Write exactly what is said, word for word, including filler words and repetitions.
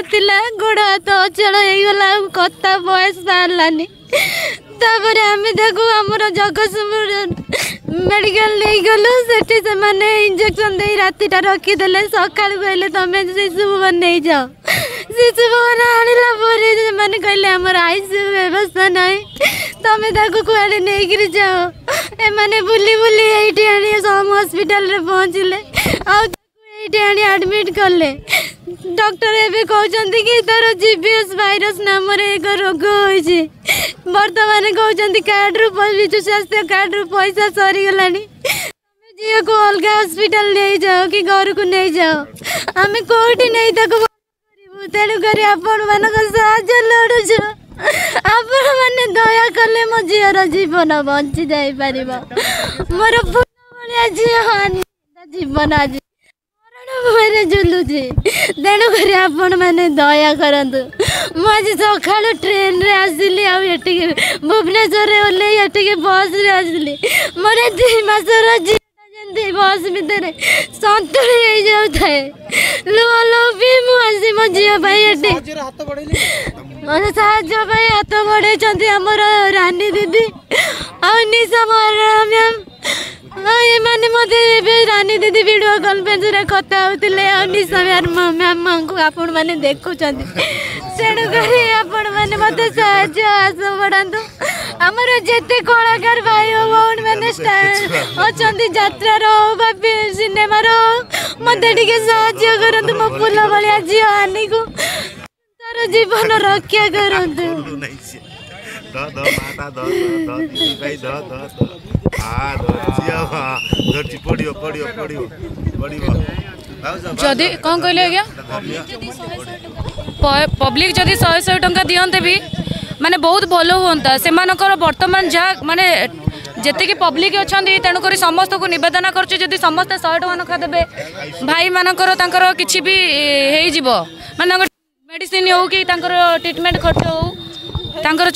ନଥିଲା, ଗୋଡ଼ ହାତ ଅଚଳ ହେଇଗଲା, ଆଉ କଥା ଭଏସ୍ ବାହାରିଲାନି। ତାପରେ ଆମେ ତାକୁ ଆମର ଜଗତସିଂହପୁର ମେଡ଼ିକାଲ ନେଇଗଲୁ। ସେଠି ସେମାନେ ଇଞ୍ଜେକ୍ସନ୍ ଦେଇ ରାତିଟା ରଖିଦେଲେ। ସକାଳୁ କହିଲେ ତମେ ଶିଶୁ ଭବନ ନେଇଯାଅ। ଶିଶୁ ଭବନ ଆଣିଲା ପରେ ସେମାନେ କହିଲେ ଆମର I C U ବ୍ୟବସ୍ଥା ନାହିଁ, ତମେ ତାକୁ କୁଆଡ଼େ ନେଇକିରି ଯାଅ। ଏମାନେ ବୁଲି ବୁଲି ଏଇଠି ଆଣି ସମ୍ ହସ୍ପିଟାଲରେ ପହଞ୍ଚିଲେ, ଆଉ ତାକୁ ଏଇଠି ଆଣି ଆଡ଼ମିଟ୍ କଲେ। ଡକ୍ଟର ଏବେ କହୁଛନ୍ତି କି ତାର ଜିବିଏସ୍ ଭାଇରସ୍ ନାମରେ ଏକ ରୋଗ ହୋଇଛି। ବର୍ତ୍ତମାନ କହୁଛନ୍ତି କାର୍ଡ଼ରୁ, ବିଜୁ ସ୍ୱାସ୍ଥ୍ୟ କାର୍ଡ଼ରୁ ପଇସା ସରିଗଲାଣି, ତମେ ଝିଅକୁ ଅଲଗା ହସ୍ପିଟାଲ ନେଇଯାଅ କି ଘରକୁ ନେଇଯାଅ। ଆମେ କେଉଁଠି ନେଇ ତାକୁ କରିବୁ? ତେଣୁକରି ଆପଣମାନଙ୍କ ସାହାଯ୍ୟ ଲୋଡ଼ୁଛୁ। ଆପଣମାନେ ଦୟା କଲେ ମୋ ଝିଅର ଜୀବନ ବଞ୍ଚି ଯାଇପାରିବ। ମୋର ଫୁଲ ଭଳିଆ ଝିଅ ଜୀବନ ଆଜି ମରଣ ଭୟରେ ଝୁଲୁଛି। ତେଣୁକରି ଆପଣମାନେ ଦୟା କରନ୍ତୁ। ମୁଁ ଆଜି ସକାଳୁ ଟ୍ରେନରେ ଆସିଲି, ଆଉ ଏଠିକି ଭୁବନେଶ୍ୱରରେ ଓହ୍ଲେଇ ଏଠିକି ବସ୍ରେ ଆସିଲି। ମୋର ଦୁଇ ମାସର ଝିଅଟା ଯେମିତି ବସ୍ ଭିତରେ ସନ୍ତୁଳି ହେଇଯାଉଥାଏ, ଲୁହ ଲୋଭି ମୁଁ ଆସି ମୋ ଝିଅ ପାଇଁ ଏଠି ମୋତେ ସାହାଯ୍ୟ ପାଇଁ ହାତ ବଢ଼େଇଛନ୍ତି ଆମର ରାନୀ ଦିଦି ଆଉ ନିଶା ମହାରଣା ମ୍ୟାମ୍। ଆଉ ଏମାନେ ମୋତେ ଏବେ ରାନୀ ଦିଦି ଭିଡ଼ିଓ କନଫରେନ୍ସରେ କଥା ହେଉଥିଲେ, ଆଉ ନିଶା ମ୍ୟାମ୍ଙ୍କୁ ଆପଣମାନେ ଦେଖୁଛନ୍ତି। ତେଣୁକରି ଆପଣମାନେ ମୋତେ ସାହାଯ୍ୟ ଆସ ବଢ଼ାନ୍ତୁ। ଆମର ଯେତେ କଳାକାର ଭାଇ ଓ ଭଉଣୀମାନେ ଅଛନ୍ତି, ଯାତ୍ରାର ହଉ ବା ସିନେମାର ହଉ, ମୋତେ ଟିକେ ସାହାଯ୍ୟ କରନ୍ତୁ। ମୋ ଫୁଲ ଭଳିଆ ଝିଅ ଆନିକୁ ତାର ଜୀବନ ରକ୍ଷା କରନ୍ତୁ। ଯଦି କ'ଣ କହିଲେ ଆଜ୍ଞା, ପବ୍ଲିକ ଯଦି ଶହେ ଶହେ ଟଙ୍କା ଦିଅନ୍ତେ ବି ମାନେ ବହୁତ ଭଲ ହୁଅନ୍ତା। ସେମାନଙ୍କର ବର୍ତ୍ତମାନ ଯାହା ମାନେ ଯେତିକି ପବ୍ଲିକ ଅଛନ୍ତି, ତେଣୁକରି ସମସ୍ତଙ୍କୁ ନିବେଦନ କରୁଛି, ଯଦି ସମସ୍ତେ ଶହେ ଟଙ୍କା ଲେଖା ଦେବେ, ଭାଇମାନଙ୍କର ତାଙ୍କର କିଛି ବି ହେଇଯିବ, ମାନେ ତାଙ୍କ ମେଡ଼ିସିନ ହଉ କି ତାଙ୍କର ଟ୍ରିଟମେଣ୍ଟ ଖର୍ଚ୍ଚ ହଉ ତାଙ୍କର।